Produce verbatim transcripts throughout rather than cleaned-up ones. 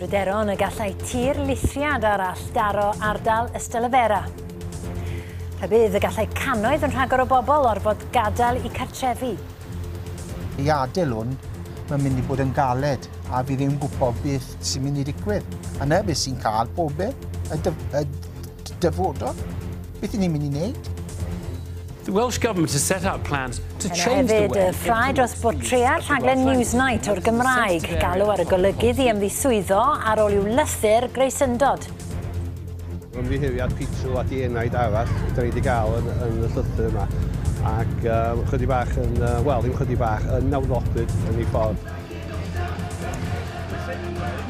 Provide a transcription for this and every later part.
Pryderon y gallai tir lithriad arall daro ardal Ystalyfera. Rhybudd y gallai cannoedd yn rhagor o bobl orfod gadael eu cartrefi. I adael hwn, mae'n mynd i bod yn galed a fi ddim yn gwybod beth sy'n mynd i ddigwydd. A na beth sy'n cael pobl, y, dyf y dyfodol. Beth ni'n mynd i wneud? The Welsh Government has set out plans to change the hefyd way... y ffrae dros bortread rhaglen Newsnight o'r Gymraeg. Galw ar y golygydd i ymddiswyddo ar ôl i'w lythyr greu syndod. Ymddiheuriad pitw a dienaid arall da ni wedi gael yn, yn y llythyr yma. Ac um, chydig bach yn, uh, wel, ddim chydig bach, yn nawddoblyd yn ei ffordd.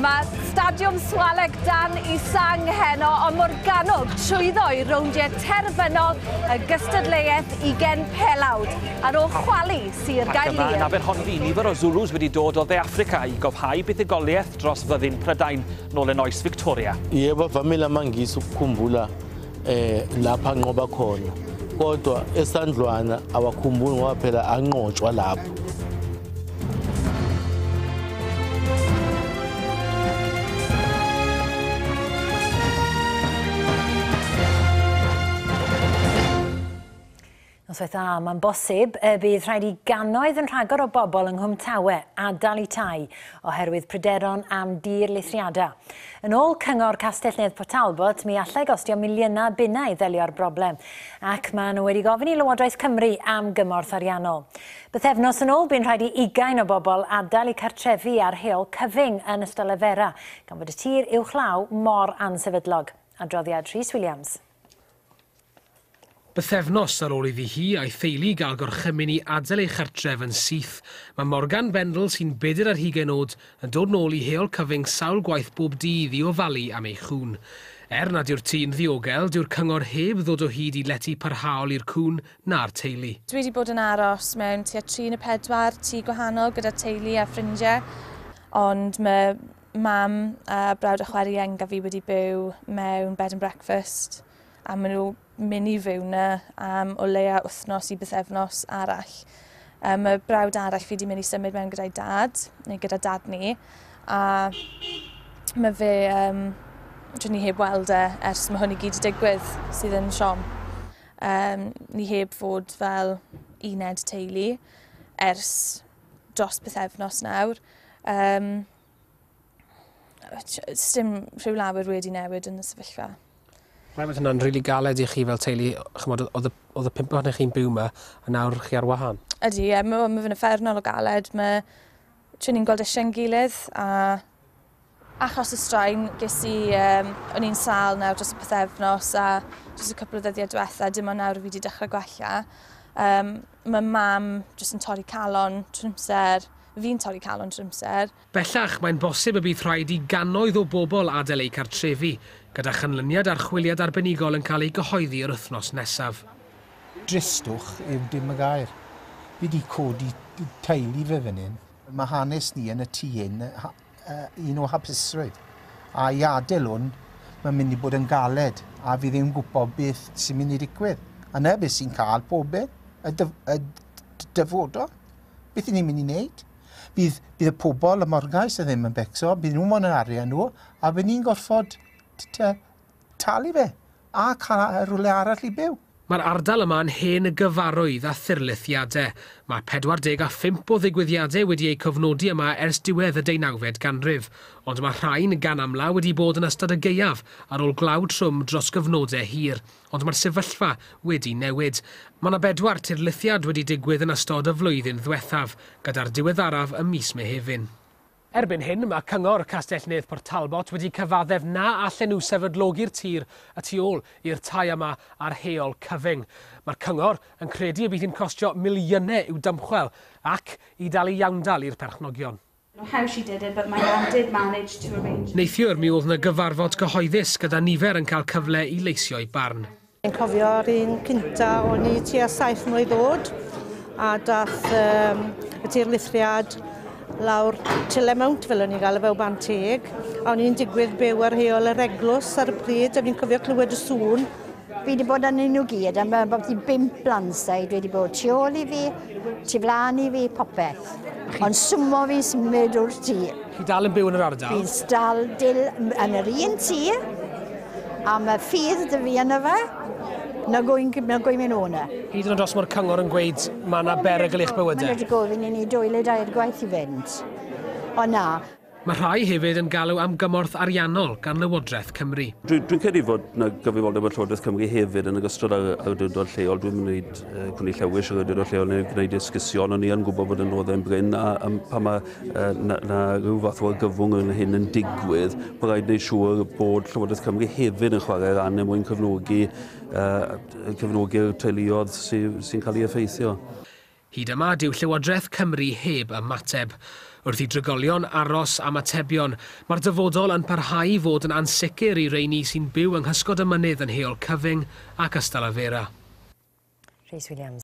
Mae Stadiwm Swalec dan i sang heno, ond Morgannwg trwyddo i rowndiau terfynol y gystadleuaeth ugain pelawd ar ôl chwalu Sir Ac yma yn Gaerlŷr. Aberhonddu, nifer o Zulus wedi dod o Dde Affrica i gofhau buddugoliaeth dros fyddin Prydain nôl yn oes Victoria. Yebo, avamile amaNgisi ukukhumbula eh lapha anqoba khona, kodwa eSandlwana awakhumbuli ngoba phela anqotshwa lapho. Noswaith dda, mae'n bosib y bydd rhaid i gannoedd yn rhagor o bobl yng Nghwm Tawe adael eu tai oherwydd pryderon am dir lithriadau. Yn ôl Cyngor Castell-nedd Port Talbot, mi allai gostio miliynau bunnau i ddelio â'r broblem, ac maen nhw wedi gofyn i Lywodraeth Cymru am gymorth ariannol. Bythefnos yn ôl, bu'n rhaid i ugain o bobl adael eu cartrefi ar Heol Cyfyng yn Ystalyfera, gan fod y tir uwchlaw mor ansefydlog. Adroddiad Rhys Williams. Bythefnos ar ôl iddi hi a'i theulu gael gorchymyn i adael ei chartref yn syth, mae Morgan Bendel, sy'n bedair ar hugain oed, yn dod nôl i Heol Cyfyng sawl gwaith bob dydd i ofalu am ei chŵn. Er nad yw'r tŷ'n ddiogel, dyw'r cyngor heb ddod o hyd i lety parhaol i'r cŵn na'r teulu. Dwi wedi bod yn aros mewn tua tri neu pedwar tŷ gwahanol gyda teulu a ffrindiau, ond mae mam a brawd a chwaer ienga fi wedi byw mewn bed and breakfast, a maen nhw mynd i fyw yna am o leia wythnos i bythefnos arall. Um, mae brawd arall fi wedi mynd i symud mewn gyda'i dad, neu gyda dad ni, a mae fe, um, dwi ni heb weld e ers mae hwn i gyd wedi digwydd, sydd yn siom. Um, ni heb fod fel uned teulu ers dros bythefnos nawr. Um, Sdim rhyw lawer wedi newid yn y sefyllfa. Rhaid bod hynna'n rili galed i chi fel teulu, chymod, oedd y, oedd y pump ohonoch chi'n byw yma, a nawr chi ar wahân. Ydy, ie, mae ma fe'n uffernol o galed. Mae trwy ni'n gweld eisiau'n gilydd, a achos y straen, ges i, um, o'n i'n sâl nawr dros y pythefnos a dros y cwpl o ddyddiau diwetha, dim ond nawr fi wedi dechrau gwella. Um, mae mam jyst yn torri calon trwy amser, fi'n torri calon trwy amser. Bellach, mae'n bosib y bydd rhaid i gannoedd o bobl adael eu cartrefi, gyda chanlyniad archwiliad arbenigol yn cael ei gyhoeddi yr wythnos nesaf. Dristwch yw dim y gair. Fi wedi codi teulu fe fan hyn. Mae hanes ni yn y tŷ hyn un o hapusrwydd. A i adael hwn, mae'n mynd i bod yn galed a fi ddim yn gwybod beth sy'n mynd i ddigwydd. A na beth sy'n cael pobl, y, dyf y dyfodol. Beth ni'n mynd i wneud? Bydd, bydd y pobl y morgais y ddim yn becso, bydd nhw'n moyn yr arian nhw, a bydd ni'n gorfod talu fe a cael rhywle arall i byw. Mae'r ardal yma'n hen gyfarwydd a thirlithiadau. Mae pedwar deg a phump o ddigwyddiadau wedi eu cofnodi yma ers diwedd y deunawfed ganrif, ond mae rhain gan amla wedi bod yn ystod y gaeaf ar ôl glaw trwm dros gyfnodau hir, ond mae'r sefyllfa wedi newid. Mae yna bedwar tirlithiad wedi digwydd yn ystod y flwyddyn ddiwethaf, gyda'r diweddaraf ym mis Mehefin. Erbyn hyn, mae Cyngor Castell-nedd Port Talbot wedi cyfaddef na allan nhw sefydlogi'r tir y tu ôl i'r tai yma ar Heol Cyfyng. Mae'r cyngor yn credu y bydd hi'n costio miliynau i'w dymchwel ac i dalu iawndal i'r perchnogion. How she did it, but my nan did manage to arrange. Neithiwr mi oedd yna gyfarfod gyhoeddus gyda nifer yn cael cyfle i leisio'u barn. Yn cofio'r un cynta o'n i tua saith mlwydd oed, a dath um, y tirlithriad lawr Tille Mount, fel o'n i'n gael e fel Banteg, a o'n i'n digwydd byw ar heol yr eglwys ar y pryd, a fi'n cofio clywed y sŵn. Fi wedi bod arnyn nhw gyd, a mae bod i bump landslide wedi bod tu ôl i fi, tu flaen i fi, popeth. Ond swmo fi symud o'r tŷ. Chi dal yn byw yn yr ardal? Fi'n dal dil yn yr un tŷ, a mae ffydd 'da fi yna fe, na gwy'n na gwy'n mynd o'na. Hyd yn oed os mae'r cyngor yn gweud mae yna berygl i'ch bywydau? Maen nhw wedi gofyn i ni dwy neu dair gwaith i fynd. O na. Mae rhai hefyd yn galw am gymorth ariannol gan Lywodraeth Cymru. Dwi'n dwi credu fod na gyfrifoldeb y Llywodraeth Cymru hefyd yn ogystal â'r awdurdod lleol. Dwi'n mynd uh, cwni llewis yr awdurdod lleol neu gwneud esgusion, ond ni yn gwybod bod adnoddau'n brin a, a pan mae uh, na, na rhyw fath o argyfwng yn hyn yn digwydd, bod rhaid wneud siŵr bod Llywodraeth Cymru hefyd yn chwarae ran er mwyn cefnogi, uh, cefnogi'r teuluoedd sy'n sy cael ei effeithio. Hyd yma, dyw Llywodraeth Cymru heb ymateb. Wrth i drigolion aros am atebion, mae'r dyfodol yn parhau i fod yn ansicr i reini sy'n byw yng nghysgod y mynydd yn Heol Cyfyng ac Ystalyfera. Rhys Williams.